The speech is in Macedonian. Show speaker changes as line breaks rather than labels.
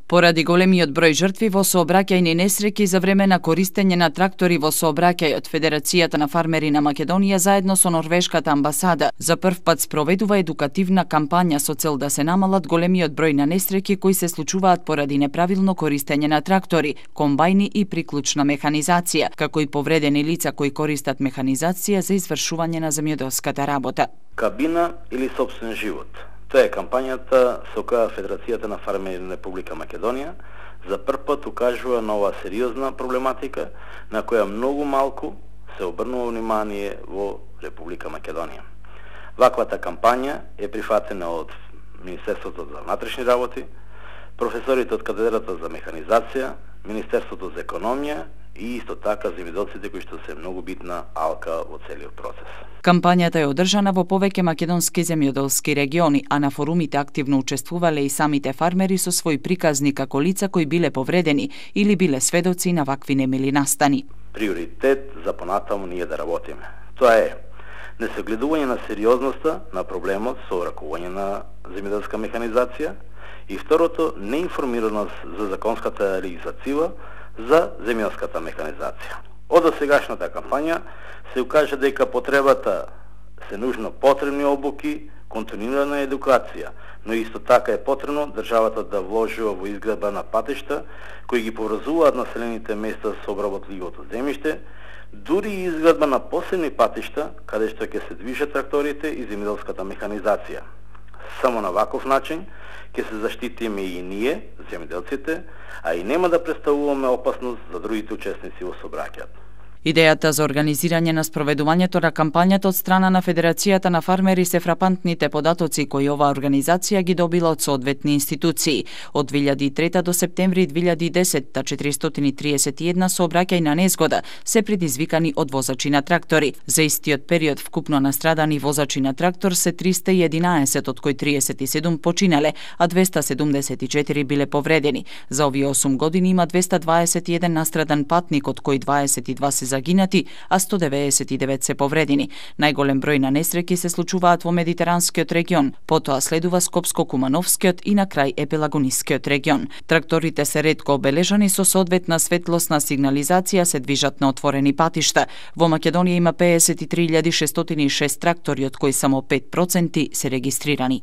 Поради големиот број жртви во сообраќајни несреќи за време на користење на трактори во сообраќајот, Федерацијата на фармери на Македонија заедно со Норвешката амбасада за прв пат спроведува едукативна кампања со цел да се намалат големиот број на несреќи кои се случуваат поради неправилно користење на трактори, комбајни и приклучна механизација, како и повредени лица кои користат механизација за извршување на земјоделската работа.
Кабина или сопствен живот. Тоа е кампањата со која Федерацијата на фармери на Република Македонија за прв пат укажува на оваа сериозна проблематика на која многу малку се обрнува внимание во Република Македонија. Ваквата кампања е прифатена од Министерството за внатрешни работи, професорите од катедрата за механизација, Министерството за економија и исто така земјоделците кои што се многу битна алка во целиот процес.
Кампањата е одржана во повеќе македонски земјоделски региони, а на форумите активно учествувале и самите фармери со своји приказни како лица кои биле повредени или биле сведоци на вакви немили настани.
Приоритет за понатаму ние да работиме. Тоа е несогледување на сериозноста на проблемот со ракување на земјоделска механизација и второто неинформираност за законската легислатива за земјоделската механизација. Од досегашната кампања се укажа дека потребата се нужно потребни обуки, континуирана едукација, но исто така е потребно државата да вложува во изградба на патишта кои ги поврзуваат населените места со обработливото земјиште, дури и изградба на посебни патишта каде што ќе се движат тракторите и земјоделската механизација. Само на ваков начин ќе се заштитиме и ние, земјоделците, а и нема да представуваме опасност за другите учесници во сообраќајот.
Идејата за организирање на спроведувањето на кампањата од страна на Федерацијата на фармери се фрапантните податоци кои оваа организација ги добила од соодветни институции. Од 2003 до септември 2010 431 сообраќајна незгода се предизвикани од возачи на трактори. За истиот период вкупно настрадани возачи на трактор се 311, од кои 37 починале, а 274 биле повредени. За овие 8 години има 221 настрадан патник, од кои 22 се загинати, а 199 се повредени. Најголем број на несреќи се случуваат во Медитеранскиот регион, потоа следува Скопско-Кумановскиот и на крај Епелагонискиот регион. Тракторите се ретко обележани со соодветна светлосна сигнализација, се движат на отворени патишта. Во Македонија има 53.606 трактори, од кои само 5% се регистрирани.